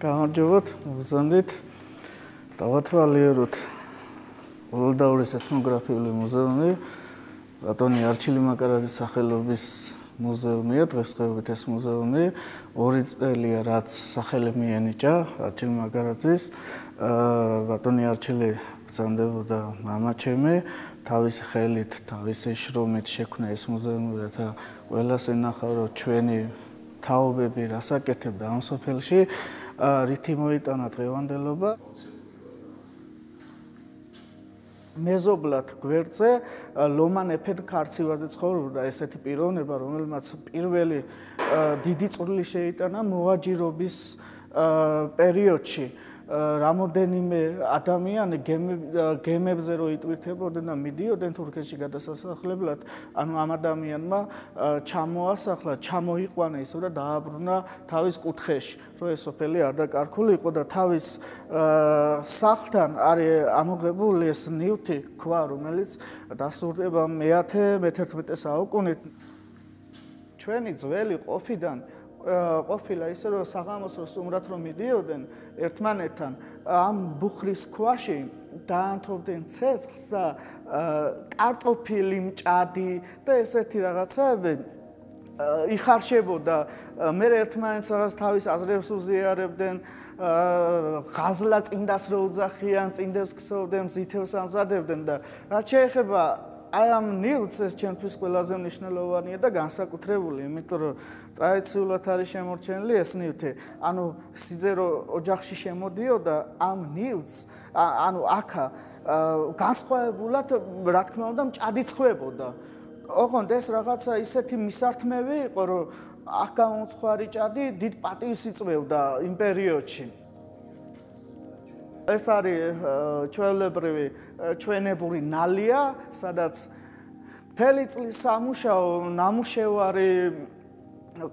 გამარჯობათ, მოგზანდით. დავათვალიეროთ ოლდაურის ეთნოგრაფიული მუზეუმი, ბატონი არჩილი მაკარაძის სახელობის მუზეუმია, დღესდღეობით ეს მუზეუმი 2 წელია რაც სახელი მიენიჭა არჩილი მაკარაძის. ბატონი არჩილი ბრძანდებოდა მამაჩემი, თავისი ხელით, თავისი შრომით შექმნა ეს მუზეუმი, რათა ყველას ენახა, რომ ჩვენი თაობები რას აკეთებდა ამ სოფელში, რითი მოიტანა დღევანდელობა. მეზობლად გვერდზე ლომან ეფენ ქარცივაძე ცხოვრობდა, ესეთი პიროვნება, რომელმაც პირველი დიდი წვლილი შეიტანა მოაჯირობის პერიოდში. რამოდენიმე ადამიანი გემებზე რო იტვირთებოდნენ და მიდიოდნენ თურქეთში გადასასახლებლად, ანუ ამ ადამიანმა ჩამოასახლა, ჩამოიყვანა ისო და დააბრუნა თავის კუთხეში, რომ ეს სოფელი არ დაკარგული იყო და თავის სახლთან არის ამოღებული ეს ნივთი ქვა, რომელიც დასურდება მე-11 საუკუნით. ჩვენი ძველი ყოფილა ისე რომ საღამოს რო სტუმრად რომ მიდიოდნენ ერთმანეთთან ამ ბუხრის ქვაში დაანთობდნენ ცეცხლს და კარტოფილი, მჭადი და ესეთი რაღაცები იხარშებოდა. მე ერთმანეთს რაღაც თავის აზრებს უზიარებდნენ, ღაზლა წინდას რო უძახიან, წინდებს ქსოვდნენ, ზითევს ამზადებდნენ და რაც შეეხება აი ამ ნივთს, ეს ჩემთვის ყველაზე მნიშვნელოვანია და განსაკუთრებული, იმიტომ რომ ტრადიციულად არის შემორჩენილი ეს ნივთი. ანუ სიძერო ოჯახში შემოდიოდა ამ ნივთს, ანუ აქა განსხვავებულად, რა თქმა უნდა, მჭადი ცხვებოდა. ოღონდ ეს რაღაცა ისეთი მისართმევი იყო, რომ აქ გამოუცხარი ჭადი დიდ პატივს იწვევდა იმ პერიოდში. ეს არის ჩვეულებრივი ჩვენებური ნალია, სადაც მთელი წლის სამუშაო, ნამუშევარი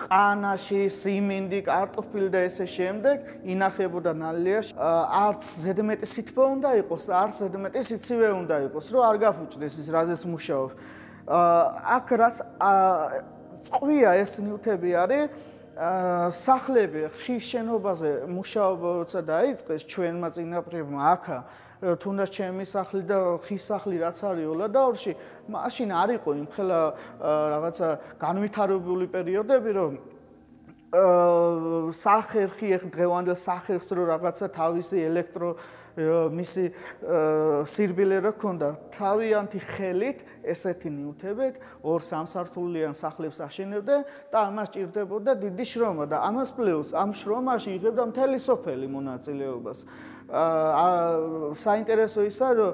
ყანაში, სიმინდი, კარტოფილი და ესე შემდეგ ინახებოდა ნალიაში. არც ზედმეტი სითბო უნდა იყოს, არც ზედმეტი სიცივე უნდა იყოს, რომ არ გაფუჭდეს ის რაზეც მუშაობს. აქ რაც წყვია ეს ნივთები არის, სახლები ხის შენობაზე მუშაობა როცა დაიწყეს ჩვენმა წინაპრებმა აქა, თუნდაც ჩემი სახლი და ხის სახლი რაც არის ოლადაურში, მაშინ არ იყო იმხელა რაღაცა განვითარებული პერიოდები, რომ სახერხი დღევანდელ სახერხს რო რაღაცა თავისი მისი სირბილე რო ქონდა, თავიანთი ხელით ესეთი ნივთებით 2-3 სართულიან სახლებს აშენებდნენ და ამას ჭირდებოდა დიდი შრომა და ამას პლუს ამ შრომაში იღებდა მთელი სოფელი მონაწილეობას. საინტერესო ისა, რომ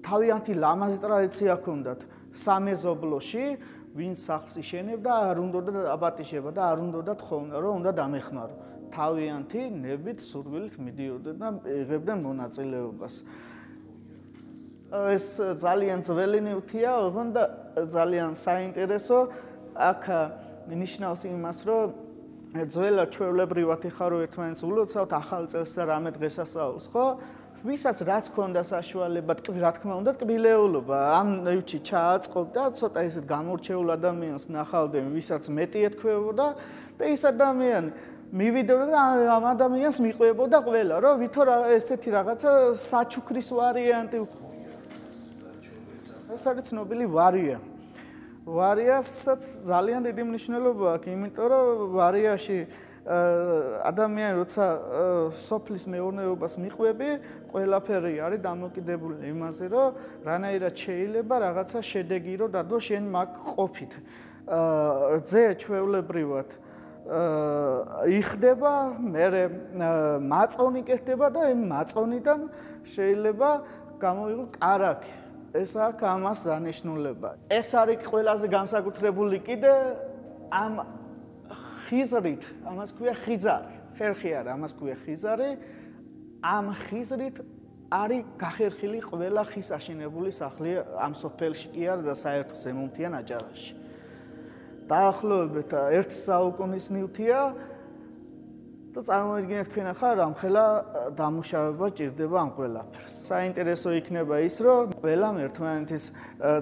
თავიანთი ლამაზი ტრადიცია ჰქონდათ სამეზობლოში, ვინც სახლს იშენებდა, არ უნდოდა აბატიშება და არ უნდოდა ხოვნა, რომ უნდა დამეხმარო. თავიანთი ნებით, სურვილით მიდიოდნენ და იღებდნენ მონაწილეობას. ეს ძალიან ძველი ნივთია, ოღონდ ძალიან საინტერესო. აქ ნიშნავს იმას, რომ ძველად ჩვეულებრივად იხარო ერთმანეთს ულოცავთ ახალ წელს და რამე დღესასწაულს, ხო? ვისაც რაც ჰქონდა საშუალება, რა თქმა უნდა, ტკბილეულობა ამ ნივთში ჩააწყობდა, ცოტა ისეთ გამორჩეულ ადამიანს ნახავდნენ, ვისაც მეტი ეთქვევოდა და ის ადამიანი მივიდოდა და ამ ადამიანს მიყვებოდა ყველა, რომ ვითო ესეთი რაღაცა საჩუქრის ვარიანტი. ეს არის ცნობილი ვარია. ვარიასაც ძალიან დიდი მნიშვნელობა აქვს, იმიტომ რომ ვარიაში ადამიანი როცა სოფლის მეურნეობას მიყვები, ყველაფერი არის დამოკიდებული იმაზე, რომ რანაირად შეიძლება რაღაცა შედეგი რომ დადო შენ მაგ ყოფით. რძე ჩვეულებრივად იხდება, მერე მაწონი კეთდება და იმ მაწონიდან შეიძლება გამოიღო კარაქი. ეს აქ ამას დანიშნულება. ეს არის ყველაზე განსაკუთრებული კიდე ამ ხიზრით, ამას ქვია ხიზარი. ხერხი არა, ამას ქვია ხიზარი. ამ ხიზრით არის გახერხილი ყველა ხის აშენებული სახლი ამ სოფელში კი არა და საერთო ზემოთიან აჭარაში. დაახლოებით 1 საუკუნის ნივთია და წარმოიდგინეთ თქვენ ახლა რამხელა დამუშავება ჭირდება ამ ყველაფერს. საინტერესო იქნება ის, რომ ყველამ ერთმანეთის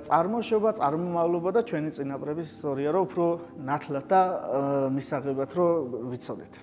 წარმოშობა, წარმომავლობა და ჩვენი წინაპრების ისტორია რო უფრო ნათლად და მისაღებად რო ვიცოდეთ.